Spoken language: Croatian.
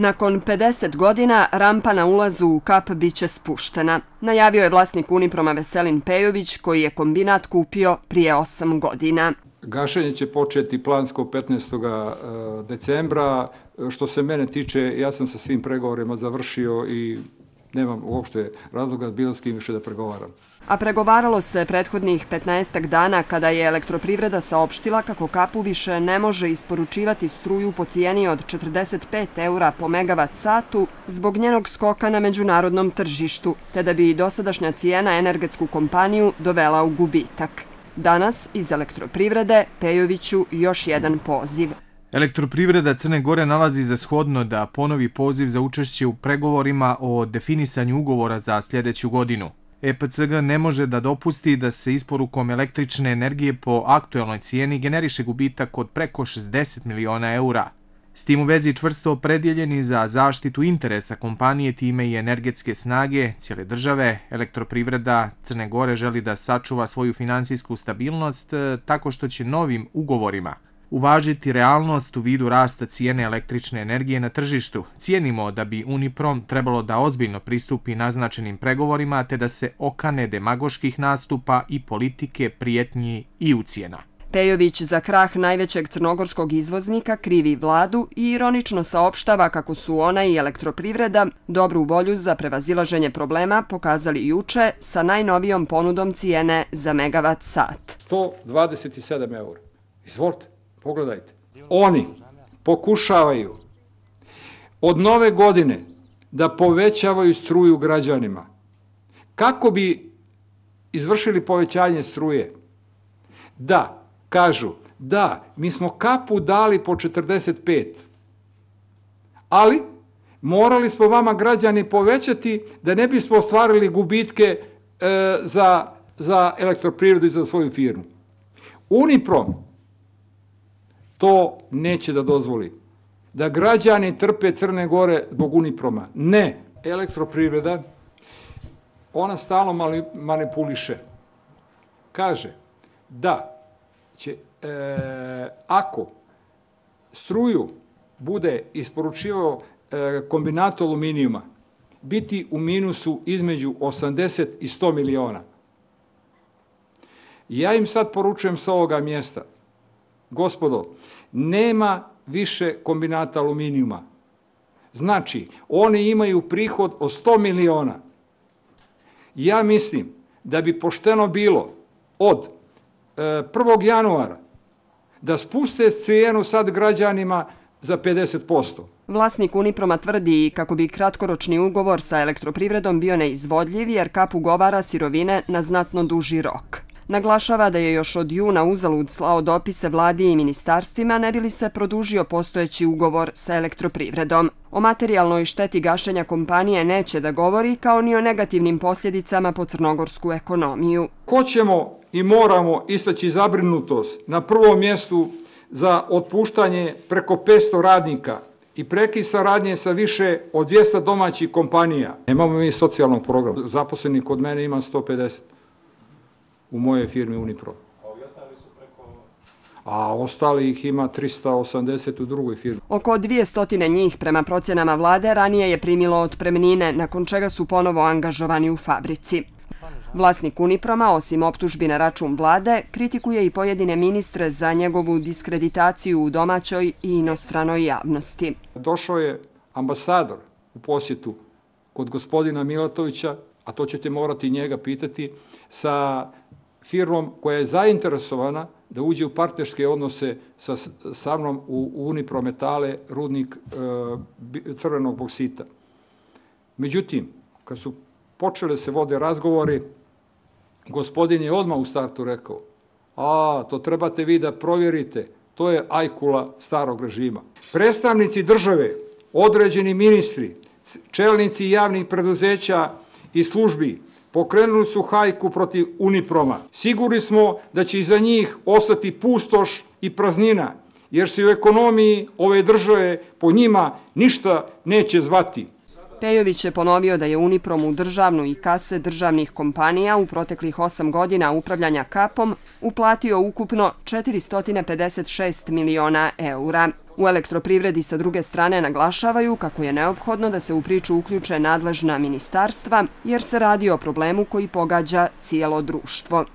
Nakon 50 godina rampa na ulazu u Kap biće spuštena. Najavio je vlasnik Uniproma Veselin Pejović, koji je kombinat kupio prije 8 godina. Gašenje će početi plansko 15. decembra. Što se mene tiče, ja sam sa svim pregovorima završio i nemam uopšte razloga bilo s kim više da pregovaram. A pregovaralo se prethodnih 15 dana kada je Elektroprivreda saopštila kako Kapu više ne može isporučivati struju po cijeni od 45 € po megavat satu zbog njenog skoka na međunarodnom tržištu, te da bi dosadašnja cijena energetsku kompaniju dovela u gubitak. Danas iz Elektroprivrede Pejoviću još jedan poziv. Elektroprivreda Crne Gore nalazi za shodno da ponovi poziv za učešće u pregovorima o definisanju ugovora za sljedeću godinu. EPCG ne može da dopusti da se isporukom električne energije po aktuelnoj cijeni generiše gubitak od preko 60 miliona € S tim u vezi čvrsto opredjeljeni za zaštitu interesa kompanije, time i energetske snage cijele države, Elektroprivreda Crne Gore želi da sačuva svoju finansijsku stabilnost tako što će novim ugovorima uvažiti realnost u vidu rasta cijene električne energije na tržištu. Cijenimo da bi Uniprom trebalo da ozbiljno pristupi naznačenim pregovorima te da se okane demagoških nastupa i politike prijetnji i ucjena. Pejović za krah najvećeg crnogorskog izvoznika krivi vladu i ironično saopštava kako su ona i Elektroprivreda dobru volju za prevazilaženje problema pokazali juče sa najnovijom ponudom cijene za megavat sat. 127 €. Izvolite, pogledajte. Oni pokušavaju od nove godine da povećavaju struju građanima. Kako bi izvršili povećanje struje? Da, kažu, da, mi smo Kapu dali po 45, ali morali smo vama građani povećati da ne bismo ostvarili gubitke za Elektroprivredu i za svoju firmu. Uniprom to neće da dozvoli. Da građani trpe Crne Gore zbog Uniproma. Ne, Elektroprivreda, ona stalno manipuliše. Kaže da će, ako struju bude isporučivao kombinat aluminijuma, biti u minusu između 80 i 100 miliona. Ja im sad poručujem sa ovoga mjesta, gospodo, nema više kombinata aluminijuma. Znači, oni imaju prihod od 100 miliona. Ja mislim da bi pošteno bilo od 1. januara da spuste cijenu sad građanima za 50%. Vlasnik Uniproma tvrdi kako bi kratkoročni ugovor sa Elektroprivredom bio neizvodljiv jer Kap ugovara sirovine na znatno duži rok. Naglašava da je još od juna uzalud slao dopise vladi i ministarstvima ne bi li se produžio postojeći ugovor sa Elektroprivredom. O materijalnoj šteti gašenja kompanije neće da govori, kao ni o negativnim posljedicama po crnogorsku ekonomiju. Hoćemo i moramo istaći zabrinutost na prvom mjestu za otpuštanje preko 500 radnika i prekid saradnje sa više od 200 domaćih kompanija. Nemamo mi socijalnog programa. Zaposlenih kod mene ima 150 u mojoj firmi Uniprom. A ostali ih ima 380 u drugoj firmi. Oko 200 njih prema procjenama vlade ranije je primilo otpremnine, nakon čega su ponovo angažovani u fabrici. Vlasnik Uniproma, osim optužbi na račun vlade, kritikuje i pojedine ministre za njegovu diskreditaciju u domaćoj i inostranoj javnosti. Došao je ambasador u posjetu kod gospodina Milatovića, a to ćete morati njega pitati, sa firmom koja je zainteresovana da uđe u partnerske odnose sa mnom u Uniprometale, rudnik crvenog boksita. Međutim, kad su počele se vode razgovori, gospodin je odmah u startu rekao, to trebate vi da provjerite, to je ajkula starog režima. Predstavnici države, određeni ministri, čelnici javnih preduzeća i službi pokrenuli su hajku protiv Uniproma. Sigurni smo da će iza njih ostati pustoš i praznina, jer se u ekonomiji ove države po njima ništa neće zvati. Pejović je ponovio da je Uniprom u državnu i kase državnih kompanija u proteklih 8 godina upravljanja Kapom uplatio ukupno 456 miliona €. U elektroprivredi sa druge strane naglašavaju kako je neophodno da se u priču uključe nadležna ministarstva jer se radi o problemu koji pogađa cijelo društvo.